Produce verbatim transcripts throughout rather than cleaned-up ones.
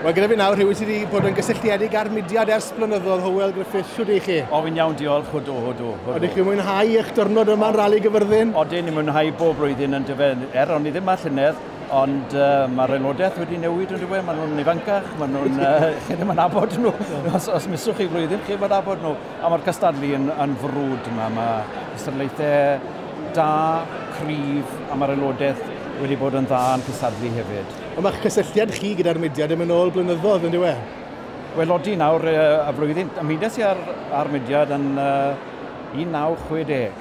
Wel, gyda fi nawr rhywun sydd wedi bod yn gysylltiedig â'r mudiad ers blynyddoedd, Hywel Griffiths, shwd ych chi? O, fi'n iawn, diolch, hodw, hodw. Odych chi'n mwynhau eich diwrnod yma'n Rali Gyfyrddin? Odyn, ni'n mwynhau bob blwyddyn yn dyfe. Er, o'n i ddim ar llynedd, ond uh, mae'r aelodaeth wedi newid yn dyfe. Maen nhw'n ifancach, maen nhw'n... Uh, chi ddim yn nabod nhw. Os, os miswch chi flwyddyn, chi ddim yn nabod nhw. A mae'r cystadlu yn, yn frwd yma. Mae cystadlaethau da, cryf, a mae'r aelodaeth wedi bod yn dda yn cystadlu hefyd. Ond mae'ch cysylltiad chi gyda'r mudiad yn mynd ôl blynyddoedd, yn dyw e? Wel, odi nawr, y flwyddyn, ymunes i ar, ar mudiad yn uh, un naw chwe deg.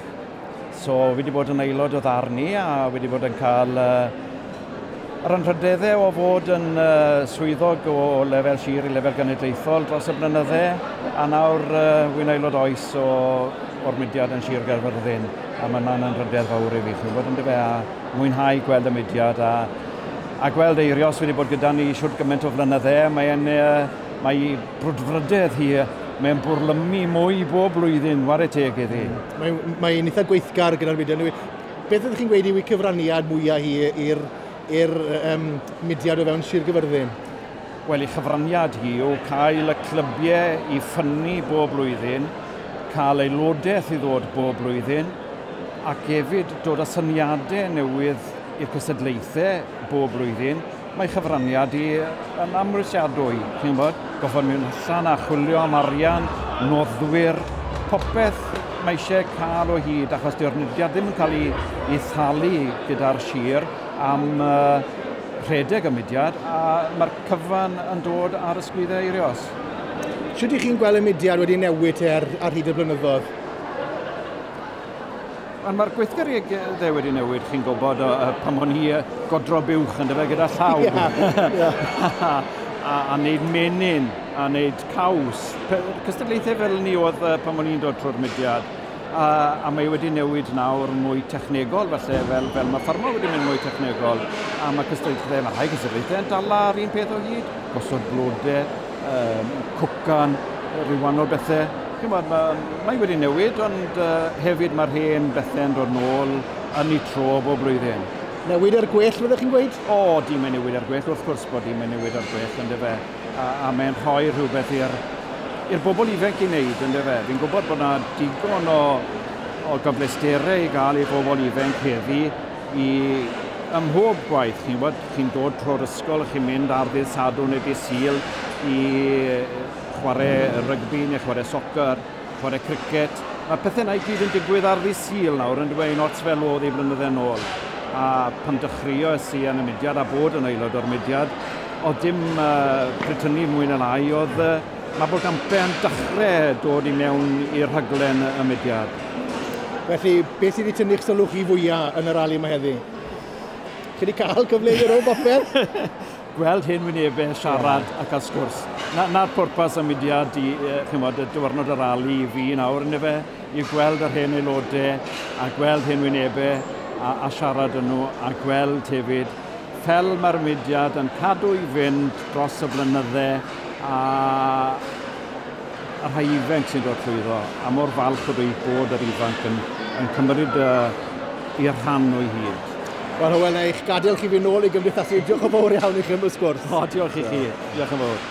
So, fi wedi bod yn aelod o ddarni a wedi bod yn cael uh, yr anrhydeddau o fod yn uh, swyddog o lefel sir i lefel genedlaethol dros y blynydde, a nawr uh, wy'n aelod oes o, o'r mudiad yn Sir Gaerfyrddin, a mae yna'n anrhydedd fawr i fi, chi'n gwybod, yndyfe, a mwynhau gweld y mudiad a, a gweld Eirios wedi bod gyda ni siwt gymaint o flynydde. Mae'n uh, mae brwdfrydedd hi, mae'n bwrlymu mwy bob blwyddyn, ware teg iddi. Mae'n mae eitha gweithgar gyda'r mudiad. Beth ydych chi'n gweud yw cyfraniad mwyaf hi i'r i'r um, mudiad o fewn Sir Gyfyrddin? Wel, ei chyfraniad hi yw cael y clybiau i ffynnu bob blwyddyn, cael aelodaeth i ddod bob blwyddyn, ac hefyd dod â syniadau newydd i'r cystadlaethau bob blwyddyn. Mae chyfraniad i yn amhrisiadwy, chi'n gwybod? Goffod mewn allan a chwilio am arian, noddwyr, popeth mae eisiau cael o hyd, achos dyw'r mudiad ddim yn cael ei, ei thalu gyda'r sir am uh, rhedeg y mudiad, a mae'r cyfan yn dod ar ysgwyddau Eirios. Sut ydych chi'n gweld y mudiad wedi newid ar, ar hyd y blynyddoedd? Ond mae'r gweithgareddau wedi newid, chi'n gwybod, uh, pan o'n i godro buwch yn dyfe gyda llaw. Yeah, yeah. a, a wneud menyn, a wneud caws. Cystadlaethau fel ni oedd pan o'n i'n dod trwy'r mudiad. A, a mae wedi newid nawr mwy technegol, falle, fel, fel mae ffarmo wedi mynd mwy technegol. A mae cystadlaethau, mae rhai cystadlaethau yn dala ar un peth o hyd. Gosod blodau, um, cwcan, rhyw wahanol bethau. Mae, mae wedi newid, ond uh, hefyd mae'r hen bethau'n dod nôl yn ei tro bob blwyddyn. Newid ar gwell, fyddech chi'n gweud? O, di mae'n newid ar gwell, wrth gwrs bod di mae'n newid ar gwell, yndyfe. A, a mae'n rhoi rhywbeth i'r i'r bobl ifanc i wneud, yndyfe. Fi'n gwybod bod yna digon o, o gyfleusterau i gael i bobl ifanc heddi i ym mhob gwaith. Chi'n gwybod, chi'n dod trwy'r ysgol, chi'n mynd ar ddydd Sadwrn neu dydd Sul i chwarae rygbi neu chwarae soccer, chwarae cricket. Mae pethau yna i gyd yn digwydd ar ddydd Sul nawr, yn dweud not fel oedd i blynydde nôl. A pan dechreuais i yn y mudiad a bod yn aelod o'r mudiad, oedd dim uh, pryd hynny mwy na lai, oedd uh, mabolgampau yn dechrau dod i mewn i'r rhaglen y mudiad. Felly, beth sydd wedi tynnu'ch sylw chi fwyaf yn y rali yma heddi? Chi wedi cael cyfle i roi bopeth? Gweld hyn wynebau, siarad a cael sgwrs. Na'r na pwrpas y mudiad i, chymod, y diwrnod y rali i fi nawr, yndyfe, i gweld yr hen aelodau a gweld hen wynebau a, a siarad â nhw a gweld hefyd fel mae'r mudiad yn cadw i fynd dros y blynydde a y rhai ifanc sy'n dod llwyddo, a mor falch ydw i bod yr ifanc yn, yn cymryd uh, i'r rhan o'i hyd. Wel, Hywel, na i'ch gadael chi fi nôl i gymdeithasu. Diolch yn fawr iawn i chi am y sgwrs. O, diolch i chi. Diolch yn fawr.